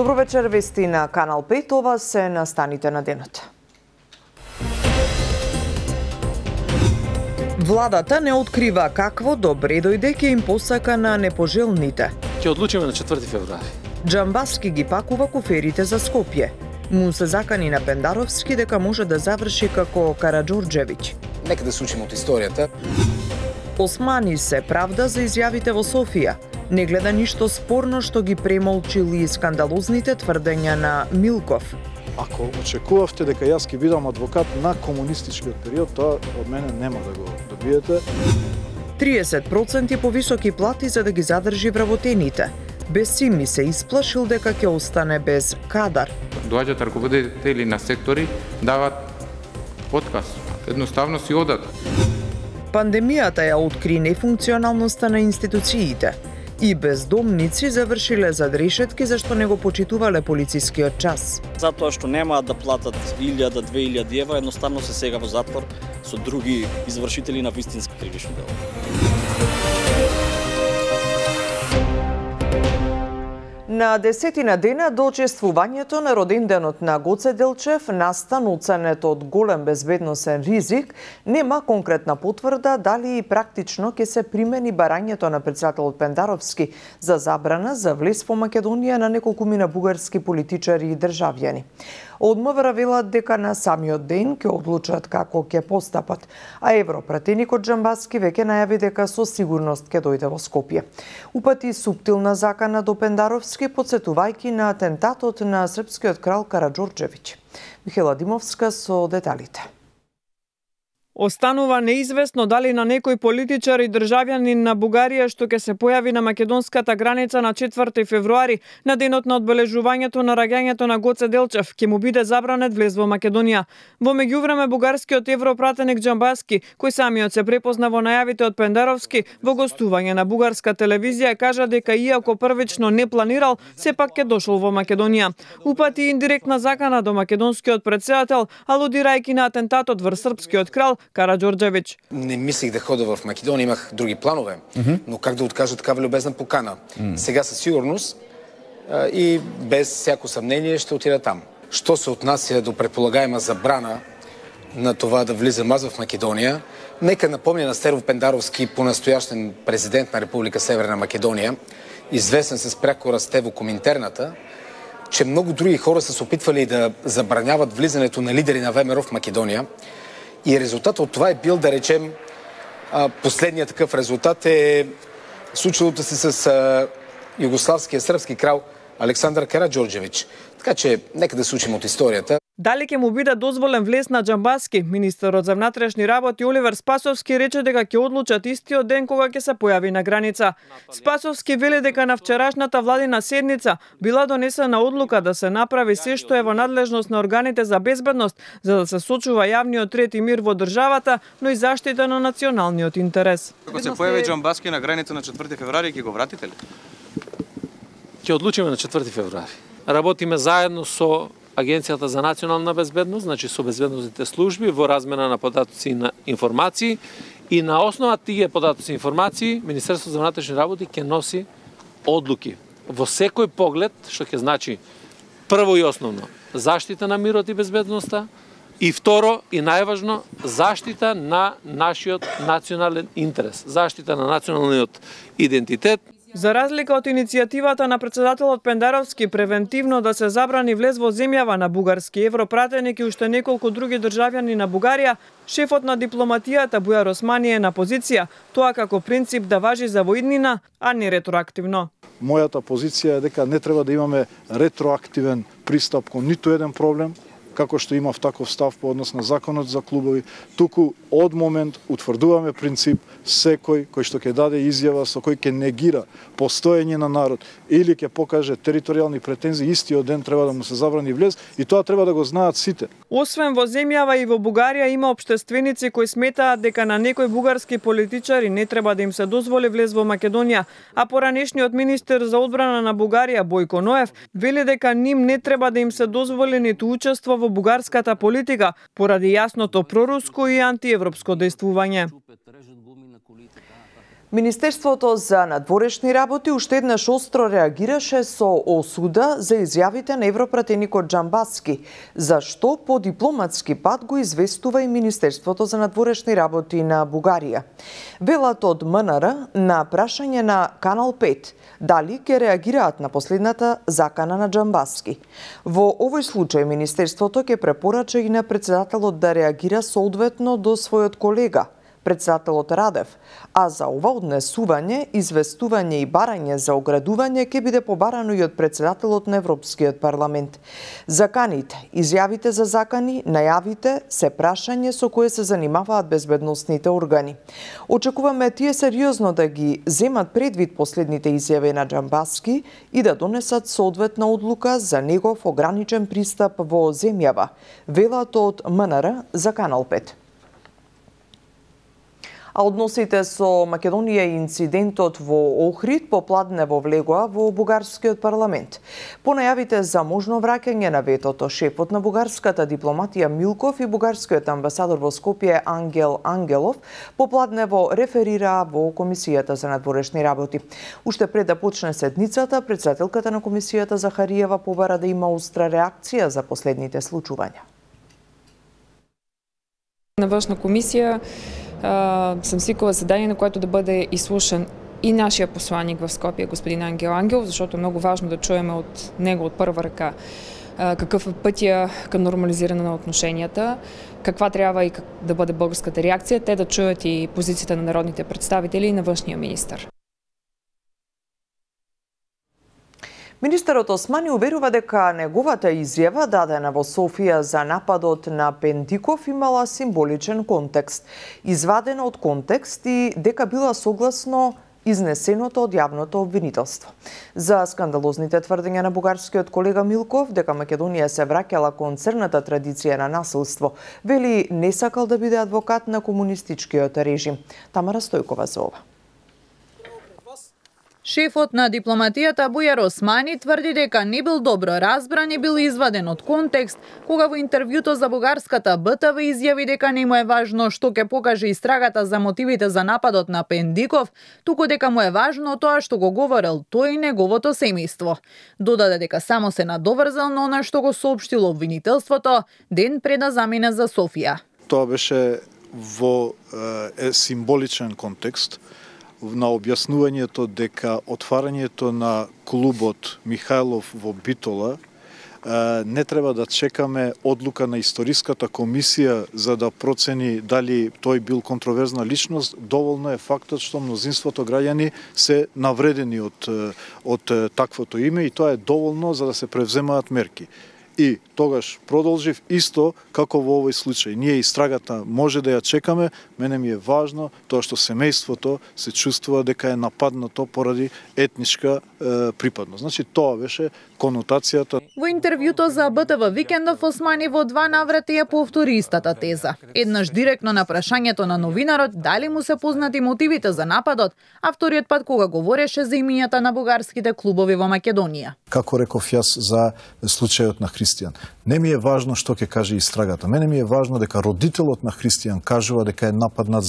Добро вечер, вести на Канал 5, ова се настаните на денот. Владата не открива какво добре дојде ќе им посака на непожелните. Ќе одлучиме на 4 февруари. Джамбаски ги пакува куферите за Скопје. Му се закани на Пендаровски дека може да заврши како Караџорџевиќ. Нека да се учиме од историјата. Османи се правда за изјавите во Софија. Не гледа ништо спорно што ги премолчили скандалозните тврдења на Милков. Ако очекувавте дека јас ќе бидам адвокат на комунистичкиот период, тоа од мене нема да го добиете. 30% повисоки плати за да ги задржи вработените. Бесими се исплашил дека ќе остане без кадар. Доаѓаат раководители на сектори, дават отказ. Едноставно си одат. Пандемијата ја откри нефункционалноста на институциите. И бездомници завршиле зад решетки зашто не го почитувале полицискиот час. Затоа што немаат да платат 1000-2000 евра, едноставно се сега во затвор со други извршители на вистински кривично дело. На 10 дена до чествувањето на роденденот на Гоце Делчев, настан оценет од голем безбедносен ризик, нема конкретна потврда дали и практично ќе се примени барањето на председателот Пендаровски за забрана за влез во Македонија на неколкумина бугарски политичари и државјани. Од МВР велат дека на самиот ден ќе одлучат како ќе постапат, а европратеникот Джамбаски веќе најави дека со сигурност ќе дојде во Скопје. Упати суптилна закана до Пендаровски, подсетувајќи на атентатот на српскиот крал Караџорџевиќ. Михела Димовска со деталите. Останува неизвестно дали на некој политичар и државјанин на Бугарија што ќе се појави на македонската граница на 4 февруари, на денот на одбележувањето на раѓањето на Гоце Делчев, ќе му биде забранет влез во Македонија. Во меѓувреме бугарскиот европратеник Джамбаски, кој самиот се препозна во најавите од Пендаровски, во гостување на бугарска телевизија кажа дека иако првично не планирал, сепак ќе дошол во Македонија. Упати индиректна закана до македонскиот председател, алудирајќи на атентатот врз српскиот крал Караџорџевиќ. Не мислих да хода в Македонија, имах други планове, но как да откажа такава любезна покана? Сега със сигурност и без всяко съмнение ще отида там. Що се отнася до предполагаема забрана на това да влизам аз в Македония, нека напомня на Стерво Пендаровски, понастоящен президент на Република Северна Македония, известен с прякора Стево Коминтерната, че много други хора са се опитвали да забраняват влизането на лидери на ВМРО в Македония. И резултатът от това е бил, да речем, последният такъв резултат е случилото се с югославския српски крал Александар Караџорџевиќ. Така че, нека да се учим от историята. Дали ќе му биде дозволен влез на Джамбаски, министерот за внатрешни работи Оливер Спасовски рече дека ќе одлучат истиот ден кога ќе се појави на граница. Спасовски вели дека на вчерашната владина седница била донесена одлука да се направи се што е во надлежност на органите за безбедност за да се сочува јавниот ред и мир во државата, но и заштита на националниот интерес. Ако се појави Джамбаски на граница на 4 февруари, ќе го вратите ли? Ќе одлучиме на 4 февруари. Работиме заедно со Агенцијата за национална безбедност, значи со безбедносните служби во размена на податоци и на информации и на основа тие податоци и информации Министерството за внатрешни работи ќе носи одлуки во секој поглед, што ќе значи прво и основно заштита на мирот и безбедноста и второ и најважно заштита на нашиот национален интерес, заштита на националниот идентитет. За разлика од иницијативата на председателот Пендаровски превентивно да се забрани влез во земјава на бугарски европратеник и уште неколку други државјани на Бугарија, шефот на дипломатијата Бујар Османи е на позиција тоа како принцип да важи за воиднина, а не ретроактивно. Мојата позиција е дека не треба да имаме ретроактивен пристап кон ниту еден проблем, како што имав таков став по однос на законот за клубови, туку од момент утврдуваме принцип секој кој што ќе даде изјава со кој ќе негира постоење на народ или ќе покаже територијални претензии, истиот ден треба да му се забрани влез и тоа треба да го знаат сите. Освен во земјава и во Бугарија има општественици кои сметаат дека на некои бугарски политичари не треба да им се дозволи влез во Македонија, а поранешниот министер за одбрана на Бугарија Бојко Ноев вели дека ним не треба да им се дозволи ниту учество во бугарската политика поради јасното проруско и антиевропско дејствување. Министерството за надворешни работи уште еднаш остро реагираше со осуда за изјавите на европратеникот Џамбаски, зашто по дипломатски пат го известува и Министерството за надворешни работи на Бугарија. Велат од МНР на прашање на Канал 5 дали ќе реагираат на последната закана на Џамбаски. Во овој случај Министерството ќе препорача и на председателот да реагира соодветно до својот колега, председателот Радев, а за ова однесување, известување и барање за оградување ќе биде побарано и од председателот на Европскиот парламент. Заканите, изјавите за закани, најавите се прашање со кое се занимаваат безбедносните органи. Очекуваме тие сериозно да ги земат предвид последните изјави на Џамбаски и да донесат соодветна одлука за негов ограничен пристап во земјава, велат од МНР за Канал 5. А односите со Македонија и инцидентот во Охрид попладнево влегоа во бугарскиот парламент. По најавите за можно враќање на ветото, шефот на бугарската дипломатија Милков и бугарскиот амбасадор во Скопје Ангел Ангелов попладнево реферираа во Комисијата за надворешни работи. Уште пред да почне седницата, председателката на комисијата Захариева побара да има остра реакција за последните случувања. На външна комисија съм свикала заседание, на което да бъде изслушан и нашия посланик в Скопие, господин Ангел Ангелов, защото е много важно да чуем от него от първа ръка какъв е пътя към нормализиране на отношенията, каква трябва и да бъде българската реакция, те да чуят и позицията на народните представители и на външния министър. Министерот Османи уверува дека неговата изјава дадена во Софија за нападот на Пендиков имала символичен контекст, извадена од контекст и дека била согласно изнесеното од јавното обвинителство. За скандалозните тврдења на бугарскиот колега Милков дека Македонија се враќала кон црната традиција на насилство, вели не сакал да биде адвокат на комунистичкиот режим. Тамара Стојкова за ова. Шефот на дипломатијата Бујар Османи тврди дека не бил добро разбран и бил изваден од контекст, кога во интервјуто за бугарската БТВ изјави дека не му е важно што ќе покаже истрагата за мотивите за нападот на Пендиков, туку дека му е важно тоа што го говорел тој и неговото семејство. Додаде дека само се надоврзал на она што го соопштило обвинителството ден пред да замине за Софија. Тоа беше во символичен контекст, на објаснувањето дека отварањето на клубот Михајлов во Битола не треба да чекаме одлука на историската комисија за да процени дали тој бил контроверзна личност. Доволно е фактот што мнозинството граѓани се навредени од таквото име и тоа е доволно за да се превземаат мерки. И тогаш продолжив исто како во овој случај. Ние истрагата може да ја чекаме, мене ми е важно тоа што семејството се чувствува дека е нападнато поради етничка припадност. Значи тоа беше конотацијата. Во интервјуто за БТВ Викендов Османи во два наврати ја повтори истата теза. Еднаш директно на прашањето на новинарот дали му се познати мотивите за нападот, а вториот пат кога говореше за имињата на бугарските клубови во Македонија. Како реков јас за случајот на Христијан, не ми е важно што ќе каже истрагата. Мене ми е важно дека родителот на Христијан кажува дека е нападнат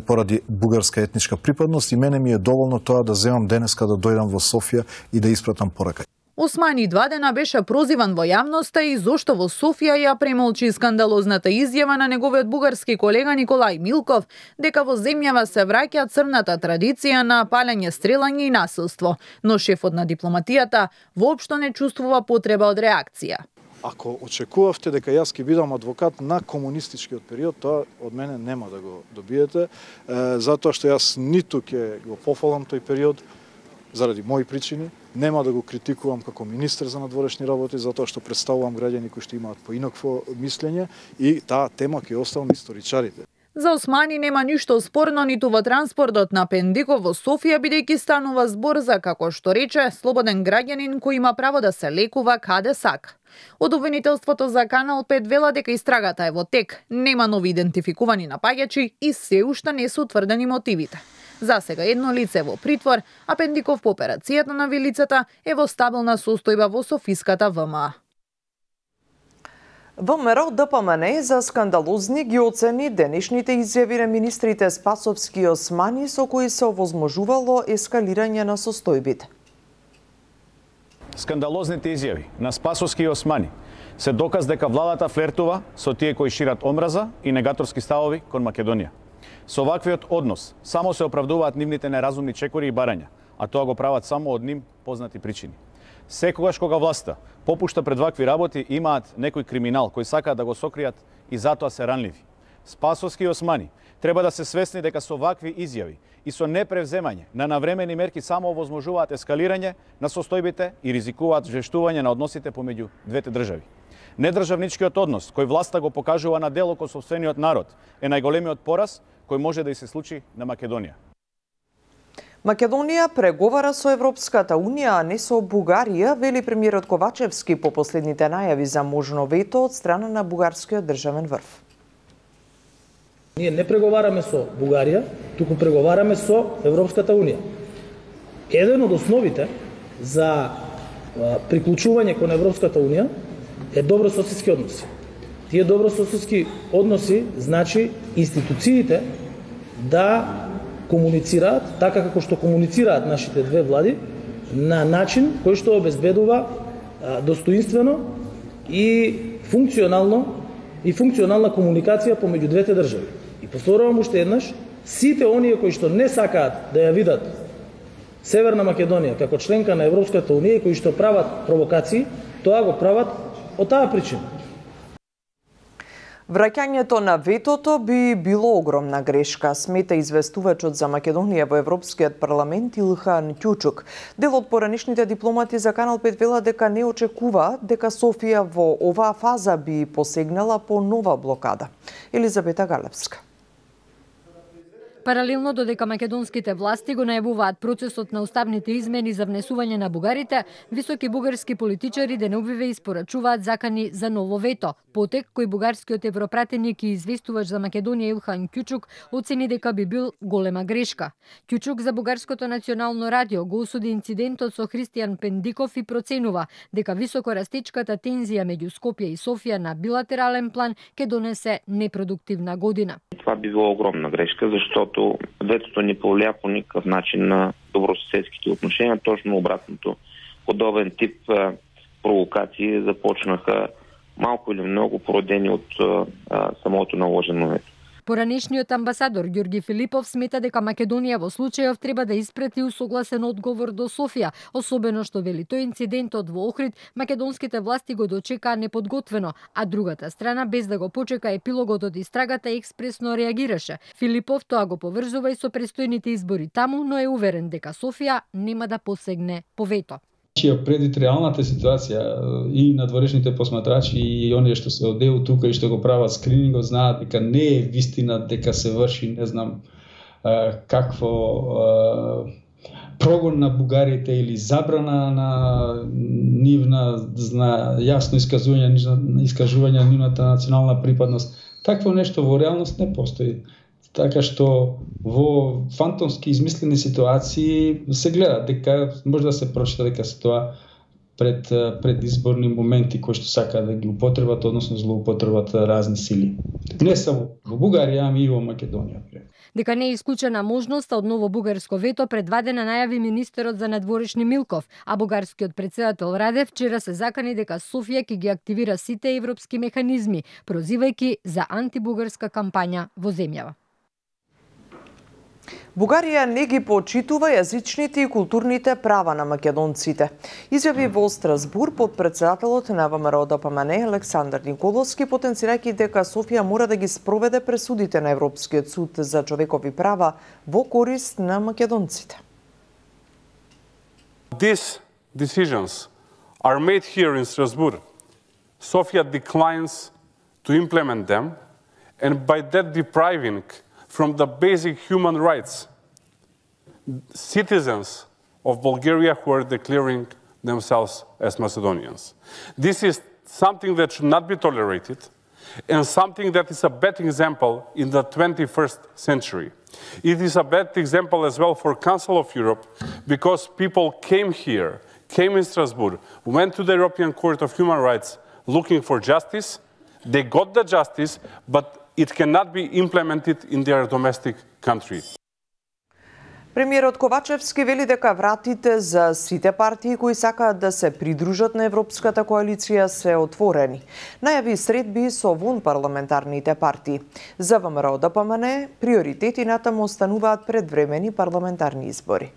поради бугарска етничка припадност и мене ми е доволно тоа да земам денеска да дојдам во Софија и да испратам порака. Османи 2 дена беше прозиван во јавноста и зошто во Софија ја премолчи скандалозната изјава на неговиот бугарски колега Николај Милков дека во земјава се враќа црната традиција на палење, стрелање и насилство, но шефот на дипломатијата воопшто не чувствува потреба од реакција. Ако очекувавте дека јас ќе бидам адвокат на комунистичкиот период, тоа од мене нема да го добиете, затоа што јас ниту ќе го пофалам тој период заради мои причини, нема да го критикувам како министер за надворешни работи затоа што представувам граѓани кои што имаат поинакво мислење и таа тема ќе оставам историчарите. За Османи нема ништо спорно ниту во транспортот на Пендиков во Софија, бидејќи станува збор за, како што рече, слободен граѓанин кој има право да се лекува каде сака. Од обвинителството за Канал 5 вела дека истрагата е во тек, нема нови идентификувани напаѓачи и се уште не се утврдени мотивите. За сега едно лице во притвор, а Пендиков по операцијата на вилицата е во стабилна состојба во Софиската ВМА. ВМРО ДПМН за скандалозни ги оцени денешните изјави на министрите Спасовски и Османи со кои се овозможувало ескалирање на состојбите. Скандалозните изјави на Спасовски и Османи се доказ дека владата флертува со тие кои шират омраза и негаторски ставови кон Македонија. Со ваквиот однос само се оправдуваат нивните неразумни чекори и барања, а тоа го прават само од ним познати причини. Секогаш кога власта попушта пред вакви работи, имаат некој криминал кој сакаат да го сокријат и затоа се ранливи. Спасовски и Османи треба да се свесни дека со вакви изјави и со непревземање на навремени мерки само овозможуваат ескалирање на состојбите и ризикуваат жештување на односите помеѓу двете држави. Недржавничкиот однос кој власта го покажува на дело кон сопствениот народ е најголемиот пораз кој може да и се случи на Македонија. Македонија преговара со Европската Унија, а не со Бугарија, вели премиерот Ковачевски по последните најави за можно вето од страна на бугарскиот државен врв. Ние не преговараме со Бугарија, туку преговараме со Европската Унија. Еден од основите за приклучување кон Европската Унија е добрососедски односи. Тие добрососедски односи значи институциите да комуницираат така како што комуницираат нашите две влади на начин кој што обезбедува достоинствено и функционална комуникација помеѓу двете држави. И повторувам уште еднаш, сите оние кои што не сакаат да ја видат Северна Македонија како членка на Европската Унија и кои што прават провокации, тоа го прават од таа причина. Враќањето на ветото би било огромна грешка, смета известувачот за Македонија во Европскиот парламент Илхан Кјучук. Дел од поранишните дипломати за Канал 5 вела дека не очекува дека Софија во оваа фаза би посегнала по нова блокада. Елизабета Галевска. Паралелно додека македонските власти го најавуваат процесот на уставните измени за внесување на бугарите, високи бугарски политичари денобиве испорачуваат закани за ново вето. Потек кој бугарскиот европратеник и известувач за Македонија Илхан Кјучук оцени дека би бил голема грешка. Кјучук за бугарското национално радио го осуди инцидентот со Христијан Пендиков и проценува дека високорастечката тензија меѓу Скопје и Софија на билатерален план ќе донесе непродуктивна година. Това би било огромна грешка, защото ветото не повлия по никакъв начин на добросъседските отношения, точно обратното. Подобен тип провокации започнаха малко или много породени от самото наложено вето. Поранешниот амбасадор Ѓорги Филипов смета дека Македонија во случајов треба да испрати усогласен одговор до Софија, особено што вели тој инцидентот во Охрид македонските власти го дочекаа неподготвено, а другата страна без да го почека епилогот од истрагата експресно реагираше. Филипов тоа го поврзува и со престојните избори таму, но е уверен дека Софија нема да посегне по вето. Предвид реалната ситуација и надворешните посматрачи и оние што се одеу тука и што го прават скринингот знаат дека не е вистина дека се врши не знам какво прогон на бугарите или забрана на нивна јасно искажување на нивната национална припадност. Такво нешто во реалност не постои. Така што во фантомски измислени ситуации се гледа дека може да се прочита дека се тоа пред изборни моменти кои што сакаат да ги употребат, односно злоупотребат разни сили. Не само во Бугарија, ами и во Македонија. Дека не е исклучена можноста од ново бугарско вето предвидена најави министерот за надворешни Милков, а бугарскиот претседател Радев вчера се закани дека Софија ќе ги активира сите европски механизми, прозивајќи за антибугарска кампања во земјава. Бугарија не ги почитува јазичните и културните права на македонците. Изјави во Страсбур подпредседателот на ВМРО ДПМН Александар Николовски, потенцирајќи дека Софија мора да ги спроведе пресудите на Европскиот суд за човекови права во корист на македонците. These decisions are made here in Strasbourg. Sofia declines to implement them and by that depriving from the basic human rights, citizens of Bulgaria who are declaring themselves as Macedonians. This is something that should not be tolerated and something that is a bad example in the 21st century. It is a bad example as well for Council of Europe because people came here, came in Strasbourg, went to the European Court of Human Rights looking for justice, They got the justice, but it cannot be implemented in their domestic country. Премиерот Ковачевски вели дека вратите за сите партии кои сакаат да се придружат на Европската коалиција се отворени. Најави средби со вонпарламентарните партии. За ВМРО-ДПМН приоритети натаму остануваат предвремени парламентарни избори.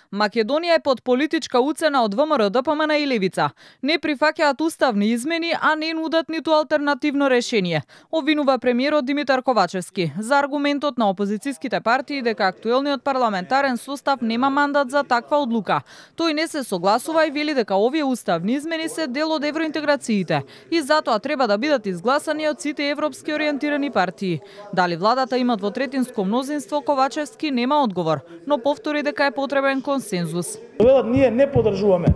Македонија е под политичка уцена од ВМРО-ДПМН и Левица. Не прифаќаат уставни измени, а не нудат ниту алтернативно решение, обвинува премиерот Димитар Ковачевски за аргументот на опозицијските партии дека актуелниот парламентарен состав нема мандат за таква одлука. Тој не се согласува и вели дека овие уставни измени се дел од евроинтеграциите и затоа треба да бидат изгласани од сите европски ориентирани партии. Дали владата има двотретинско мнозинство, Ковачевски нема одговор, но повтори дека е потребен консензус. Велат ние не поддржуваме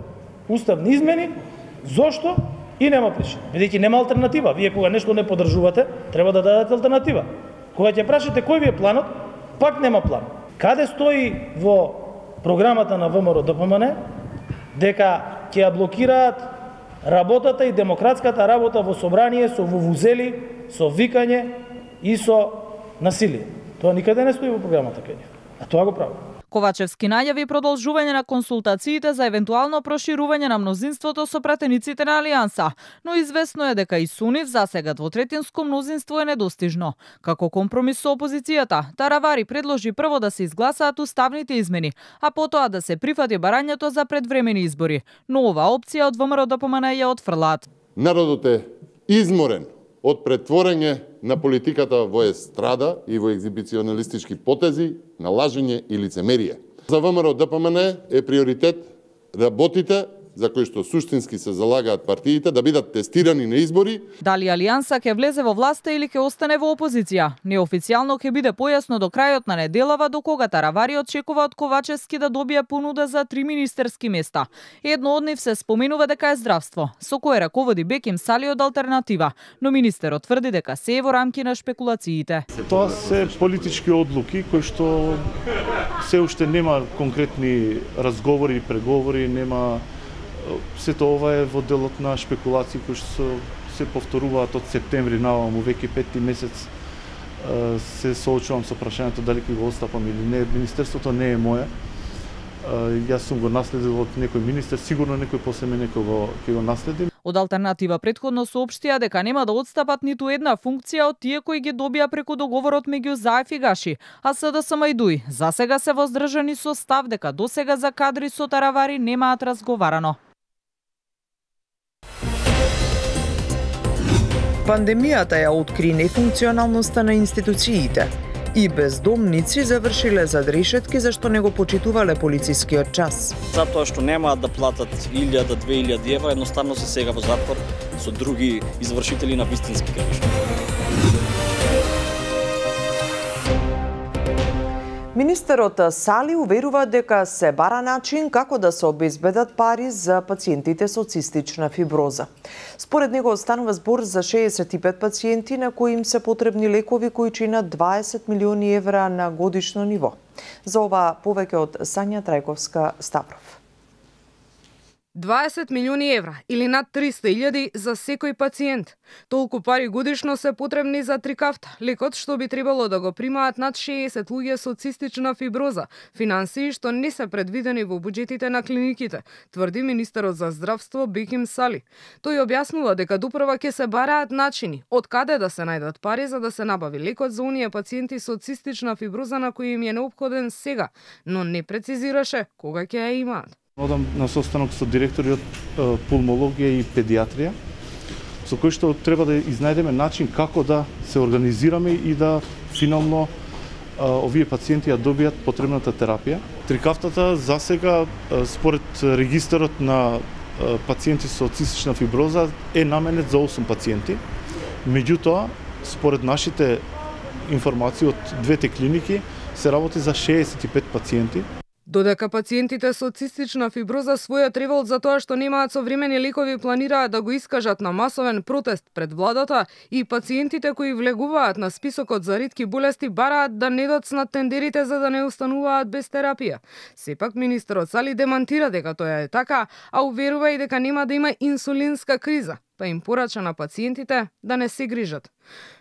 уставни измени, зошто? И нема причина. Бидејќи нема алтернатива. Вие кога нешто не поддржувате, треба да дадете алтернатива. Кога ќе прашате кој ви е планот, пак нема план. Каде стои во програмата на ВМРО-ДПМН дека ќе ја блокираат работата и демократската работа во собрание со вувузели, со викање и со насилие. Тоа никаде не стои во програмата кај нив. А тоа го прави. Ковачевски најави продолжување на консултациите за евентуално проширување на мнозинството со пратениците на Алијанса, но известно е дека и со нив засега двотретинско мнозинство е недостижно. Како компромис со опозицијата, Таравари предложи прво да се изгласаат уставните измени, а потоа да се прифати барањето за предвремени избори, но оваа опција од ВМРО-ДПМН ја отфрлаат. Народот е изморен од претворење на политиката во естрада и во екзибиционалистички потези, на лажење и лицемерие. За ВМРО-ДПМН е приоритет работите за кои што суштински се залагаат партиите да бидат тестирани на избори. Дали Алијанса ќе влезе во власта или ќе остане во опозиција? Неофицијално ќе биде појасно до крајот на неделава, до кога Таравари очекува од Ковачевски да добие понуда за 3 министерски места. Едно од нив се споменува дека е здравство, со кое раководи Беким Сали од Алтернатива, но министерот тврди дека се е во рамки на шпекулациите. Тоа се политички одлуки кои што се уште нема конкретни разговори и преговори, нема. Сето ова е во делот на шпекулации кои што се повторуваат од септември наваму, веќе 5 месец се соочувам со прашањето дали ќе го отстапам или не. Министерството не е мое. Јас сум го наследил од некој министер, сигурно некој после мене ќе го наследи. Од Алтернатива претходно соопштија дека нема да отстапат ниту една функција од тие кои ги добија преку договорот меѓу ЗАЕФ и Гаши, а СДСМ и ДУИ засега се воздржани со став дека досега за кадри со Таравари немаат разговарано. Пандемијата ја откри нефункционалноста на институциите и бездомници завршиле зад решетки зашто не го почитувале полицискиот час. Затоа што немаат да платат 1000-2000 евра, едноставно се сега во затвор со други извршители на вистински грешки. Министерот Сали уверува дека се бара начин како да се обезбедат пари за пациентите со цистична фиброза. Според него станува збор за 65 пациенти на кои им се потребни лекови кои чинат 20 милиони евра на годишно ниво. За ова повеќе од Сања Трајковска-Ставров. 20 милиони евра или над 300.000 за секој пациент. Толку пари годишно се потребни за Трикафт, лекот што би требало да го примаат над 60 луѓе со цистична фиброза, финансии што не се предвидени во буџетите на клиниките, тврди министерот за здравство Беким Сали. Тој објаснува дека допрва ќе се бараат начини од каде да се најдат пари за да се набави лекот за оние пациенти со цистична фиброза на кои им е неопходен сега, но не прецизираше кога ќе ја имаат. Одам на состанок со директори од пулмологија и педиатрија, со кој што треба да изнајдеме начин како да се организираме и да финално овие пациенти ја добијат потребната терапија. Трикафтата засега според регистарот на пациенти со цистична фиброза е наменет за 8 пациенти. Меѓутоа, според нашите информации од двете клиники се работи за 65 пациенти. Додека пациентите со цистична фиброза својот револт за тоа што немаат современи лекови планираат да го искажат на масовен протест пред владата и пациентите кои влегуваат на списокот за ретки болести бараат да не доцнат тендерите за да не остануваат без терапија. Сепак министерот Сали демантира дека тоа е така, а уверува и дека нема да има инсулинска криза. па им порача на пациентите да не се грижат.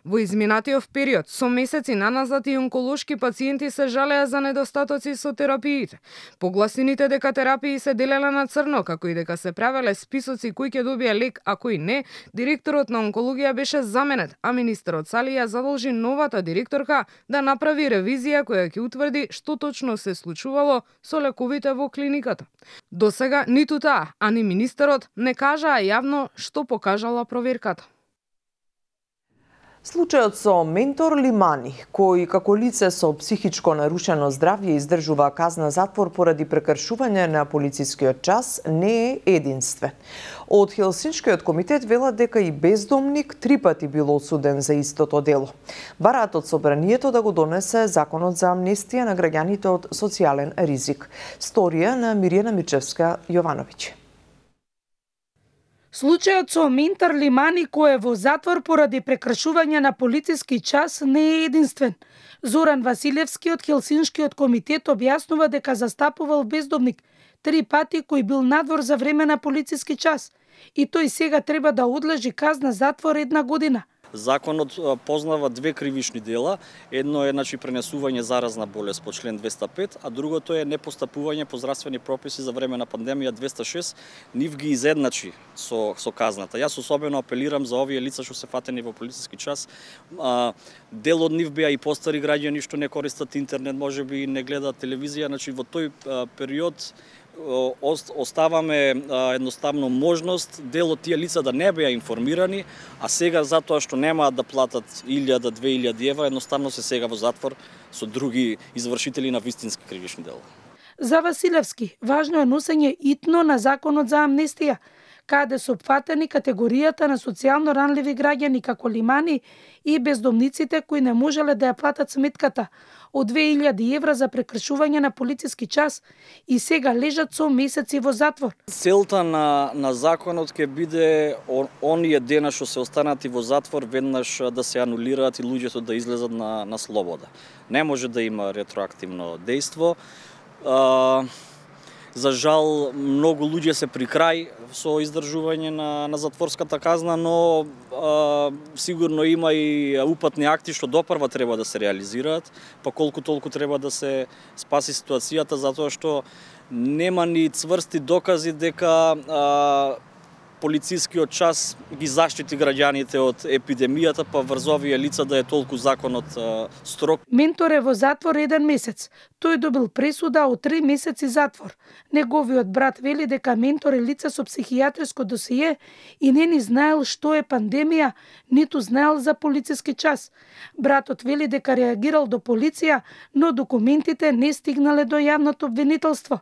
Во изминатиот период, со месеци наназад и онколошки пациенти се жалеа за недостатоци со терапиите. Погласените дека терапии се делела на црно, како и дека се правеле списоци кој ќе добие лек, а кој не, директорот на онкологија беше заменет, а министерот Сали ја задолжи новата директорка да направи ревизија која ќе утврди што точно се случувало со лековите во клиниката. Досега ниту таа, а ни министерот не кажаа јавно што покажала проверката. Случајот со Ментор Лимани, кој како лице со психичко нарушено здравје издржува казна затвор поради прекршување на полицискиот час, не е единствен. Од Хелсиншкиот комитет велат дека и бездомник 3 пати бил осуден за истото дело. Бараат од собранието да го донесе законот за амнестија на граѓаните од социјален ризик. Сторија на Миријана Мичевска-Јовановиќ. Случајот со Ментор Лимани, кој е во затвор поради прекршување на полициски час, не е единствен. Зоран Василевски од Хелсиншкиот комитет објаснува дека застапувал бездомник 3 пати кој бил надвор за време на полициски час и тој сега треба да одлежи казна затвор 1 година. Законот познава 2 кривични дела. Едно е пренесување заразна болест по член 205, а другото е непостапување по здравствени прописи за време на пандемија 206. Нив ги изедначи со казната. Јас особено апелирам за овие лица што се фатени во полициски час. Дел од нив беа и постари граѓани што не користат интернет, можеби не гледаат телевизија. Во тој период оставаме едноставно можност дел од тие лица да не беа информирани, а сега затоа што немаат да платат 1000-2000 евра, едноставно се сега во затвор со други извршители на вистински кривични дела. За Василевски, важно е носење итно на законот за амнестија, каде се опфатени категоријата на социјално ранливи граѓани како Лимани и бездомниците кои не можеле да ја платат сметката од 2000 евра за прекршување на полициски час и сега лежат со месеци во затвор. Целта на законот ќе биде оние дена што се останати во затвор веднаш да се анулираат и луѓето да излезат на слобода. Не може да има ретроактивно дејство. За жал, многу луѓе се при крај со издржување на затворската казна, но сигурно има и упатни акти што допрва треба да се реализираат, па колку толку треба да се спаси ситуацијата, затоа што нема ни цврсти докази дека полицискиот час ги заштити граѓаните од епидемијата, па врз овие лица да е толку законот строг. Ментор е во затвор 1 месец. Тој добил пресуда од 3 месеци затвор. Неговиот брат вели дека Ментор е лице со психијатриско досие и не ни знаел што е пандемија, ниту знаел за полициски час. Братот вели дека реагирал до полиција, но документите не стигнале до јавното обвинителство.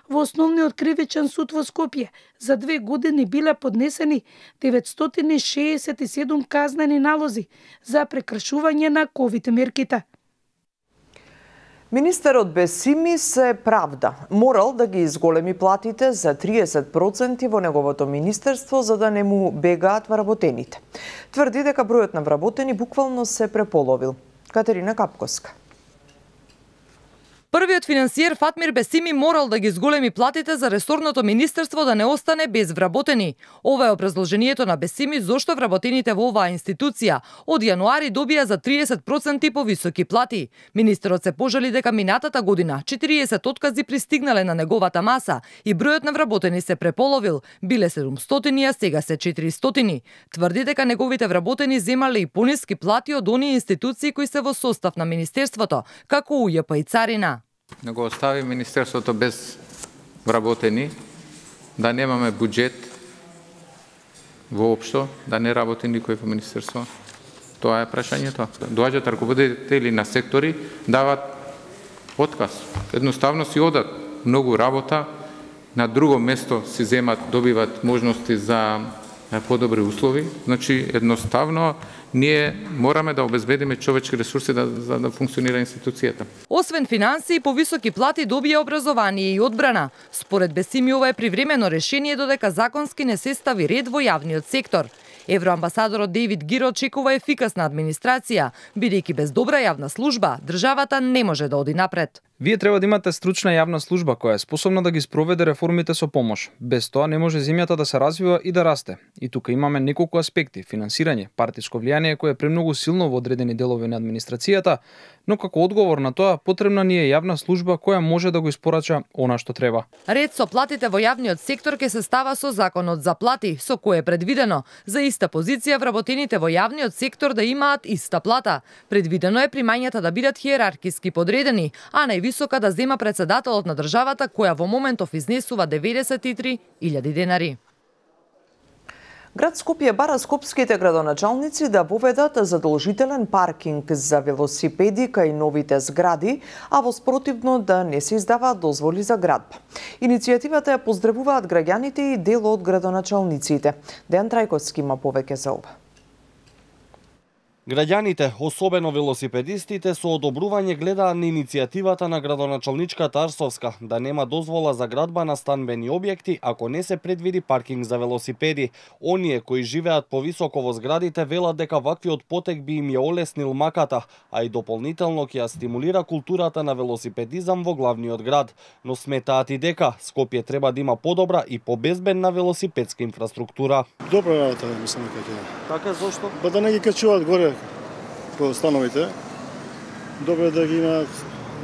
Во Основниот кривичен суд во Скопје за 2 години биле поднесени 967 казнени налози за прекршување на ковид мерките. Министерот Бесими се правда. Морал да ги изголеми платите за 30% во неговото министерство за да не му бегаат вработените. Тврди дека бројот на вработени буквално се преполовил. Катерина Капковска. Првиот финансиер Фатмир Бесими морал да ги зголеми платите за ресорното министерство да не остане без вработени. Ова е образложението на Бесими зошто вработените во оваа институција од јануари добија за 30% повисоки плати. Министерот се пожали дека минатата година 40 откази пристигнале на неговата маса и бројот на вработени се преполовил, биле 700, а сега се 400. Тврди дека неговите вработени земале и пониски плати од оние институции кои се во состав на министерството, како УЈП и Царина. Не го остави министерството без вработени, да немаме буџет воопшто, да не работи никој во министерство. Тоа е прашањето. Доаѓаат раководители на сектори, дават отказ. Едноставно си одат многу работа, на друго место си земат, добиват можности за подобри услови. Значи, едноставно ние мораме да обезбедиме човечки ресурси за да функционира институцијата. Освен финансии, повисоки плати добија образование и одбрана. Според Бесими, ова е привремено решение додека законски не се стави ред во јавниот сектор. Евроамбасадорот Дейвид Гиро очекува ефикасна администрација, бидејќи без добра јавна служба, државата не може да оди напред. Вие треба да имате стручна јавна служба која е способна да ги спроведе реформите со помош. Без тоа не може земјата да се развива и да расте. И тука имаме неколку аспекти: финансирање, партиско влијание кое е премногу силно во одредени делови на администрацијата, но како одговор на тоа потребна ни е јавна служба која може да го испорача она што треба. Ред со платите во јавниот сектор ќе се става со законот за плати, со кој е предвидено за иста позиција вработените во јавниот сектор да имаат иста плата. Предвидено е примањата да бидат хиерархиски подредени, а највисока да зема председателот на државата, која во моментов изнесува 93.000 денари. Град Скопје бара скопските градоначалници да воведат задолжителен паркинг за велосипеди кај новите згради, а во спротивно да не се издаваат дозволи за градба. Иницијативата ја поздравуваат граѓаните и дел од градоначалниците. Дејан Трајковски има повеќе за ова. Граѓаните, особено велосипедистите, со одобрување гледаат на иницијативата на градоначалничката Арсовска да нема дозвола за градба на станбени објекти ако не се предвиди паркинг за велосипеди. Оние кои живеат повисоко во зградите велат дека ваквиот потек би им ја олеснил маката, а и дополнително ќе ја стимулира културата на велосипедизам во главниот град. Но сметаат и дека Скопје треба да има подобра и побезбедна велосипедска инфраструктура. Добра работа, мислам дека ќе. Така зошто? Ба да не ги качуваат горе по становите, добро да ги има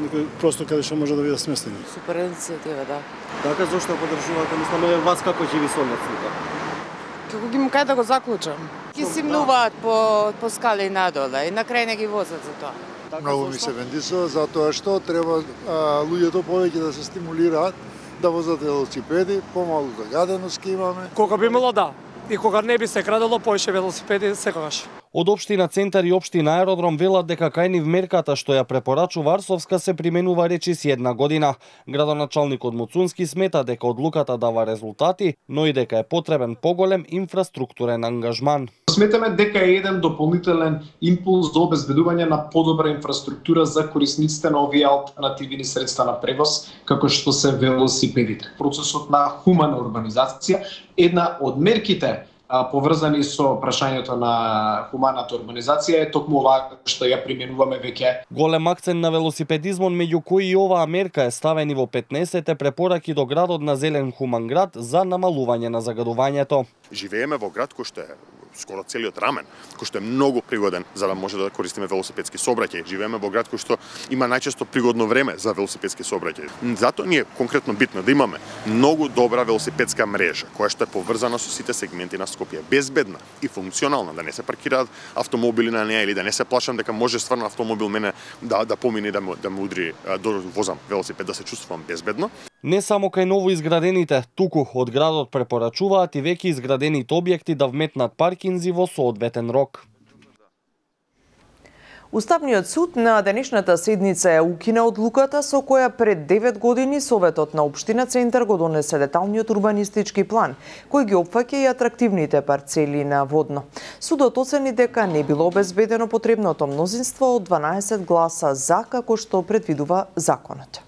некој простор каде што може да бидат сместени. Супер иницијатива, да. Така зошто поддржувате, мисламе вас како живи соодноците? Како ги кај да го заклучам. Ги симнуваат по скали надоле и на крај не ги возат за тоа. Многу ми се вендисува затоа што треба луѓето повеќе да се стимулираат да возат велосипеди, помалку загаденост ќе имаме. Кога би имало да, и кога не би се крадело поише велосипеди секогаш. Од општина Центар и општина Аеродром велат дека кај нив мерката што ја препорачува Арсовска се применува речиси 1 година. Градоначалникот Муцунски смета дека одлуката дава резултати, но и дека е потребен поголем инфраструктурен ангажман. Сметаме дека е еден дополнителен импулс за обезбедување на подобра инфраструктура за корисниците на овие алтернативни средства на превоз, како што се велосипедите. Процесот на хумана урбанизација, една од мерките поврзани со прашањето на хуманата урбанизација е токму ова што ја применуваме веќе. Голем акцент на велосипедизмон, меѓу кои и оваа мерка е ставени во 15-те препораки до градот на зелен хуман град за намалување на загадувањето. Живееме во град кој што е скоро целиот рамен, кој што е многу пригоден за да може да користиме велосипедски сообраќај. Живееме во град кој што има најчесто пригодно време за велосипедски сообраќај. Затоа ни е конкретно битно да имаме многу добра велосипедска мрежа, која што е поврзана со сите сегменти на Скопје, безбедна и функционална, да не се паркираат автомобили на неа или да не се плашам дека може стварно автомобил мене да помине да ме удри до возам велосипед, да се чувствувам безбедно. Не само кај ново изградените, туку од градот препорачуваат и веќе изградените објекти да вметнат паркинзи во соодветен рок. Уставниот суд на денешната седница ја укина одлуката со која пред 9 години Советот на општина Центар го донесе деталниот урбанистички план, кој ги опфаќа и атрактивните парцели на Водно. Судот оцени дека не било обезбедено потребното мнозинство од 12 гласа за, како што предвидува законот.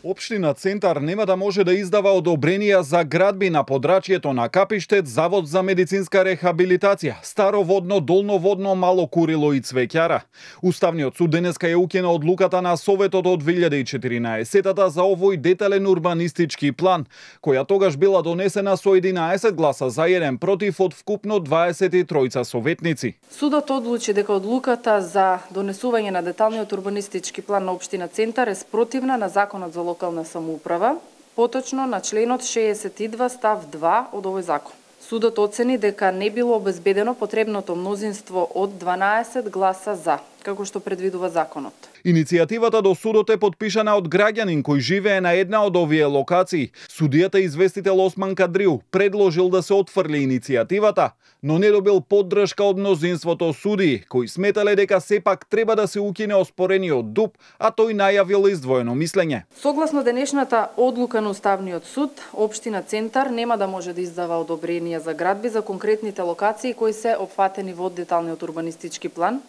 Општина Центар нема да може да издава одобренија за градби на подрачјето на Капиштет, Завод за медицинска рехабилитација, Старо Водно, Долно Водно, Мало Курило и Цвеќара. Уставниот суд денеска ја укина одлуката на Советот од 2014 за овој детален урбанистички план, која тогаш била донесена со 11 гласа за 1 против од вкупно 23 советници. Судот одлучи дека одлуката за донесување на деталниот урбанистички план на општина Центар е спротивна на Законот за локална самоуправа, поточно на членот 62 став 2 од овој закон. Судот оцени дека не било обезбедено потребното мнозинство од 12 гласа за. како што предвидува законот. Иницијативата до судот е подпишана од граѓанин кој живее на една од овие локации. Судијата известител Осман Кадрил предложил да се отфрли иницијативата, но не добил поддршка од мнозинството судии, кои сметале дека сепак треба да се укине оспорениот ДУП, а тој најавил издвоено мислење. Согласно денешната одлука на Уставниот суд, општина Центар нема да може да издава одобренија за градби за конкретните локации кои се опфатени во деталниот урбанистички план,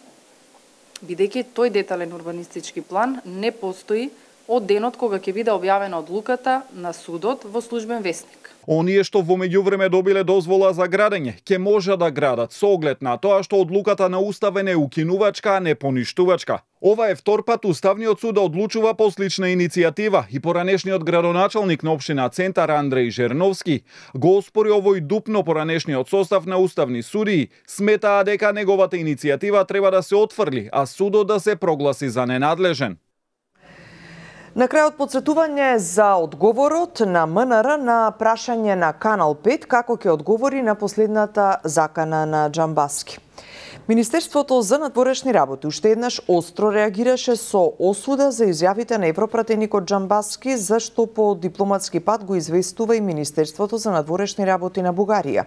бидејќи тој детален урбанистички план не постои од денот кога ќе биде објавена одлуката на судот во Службен весник. Оние што во меѓувреме добиле дозвола за градење, ќе може да градат со оглед на тоа што одлуката на Уставен е укинувачка, а не поништувачка. Ова е втор пат Уставниот суд да одлучува по слична иницијатива и поранешниот градоначалник на општина Центар Андреј Жерновски го оспори овој ДУП, но поранешниот состав на уставни судии сметаа дека неговата иницијатива треба да се отфрли, а судот да се прогласи за ненадлежен. На крајот подсетување за одговорот на МНР на прашање на Канал 5 како ќе одговори на последната закана на Џамбаски. Министерството за надворешни работи уште еднаш остро реагираше со осуда за изјавите на европратеникот Џамбаски, зашто по дипломатски пат го известува и Министерството за надворешни работи на Бугарија.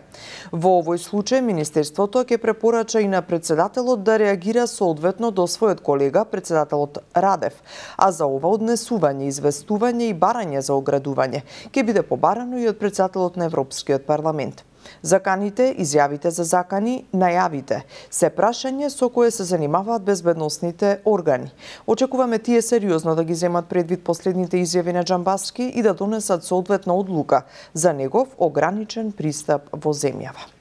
Во овој случај Министерството ќе препорача и на председателот да реагира соодветно до својот колега, председателот Радев, а за ова однесување, известување и барање за оградување ќе биде побарано и од председателот на Европскиот парламент. Заканите, изјавите за закани, најавите се прашање со кое се занимаваат безбедносните органи. Очекуваме тие сериозно да ги земат предвид последните изјави на Џамбаски и да донесат соодветна одлука за негов ограничен пристап во земјава.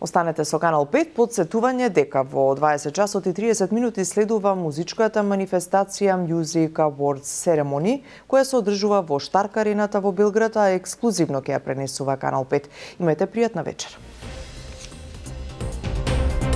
Останете со Канал 5, подсетување дека во 20 часот и 30 минути следува музичката манифестација Music Awards Ceremony, која се одржува во Штарк арената во Белград, а ексклузивно ќе ја пренесува Канал 5. Имајте пријатна вечер.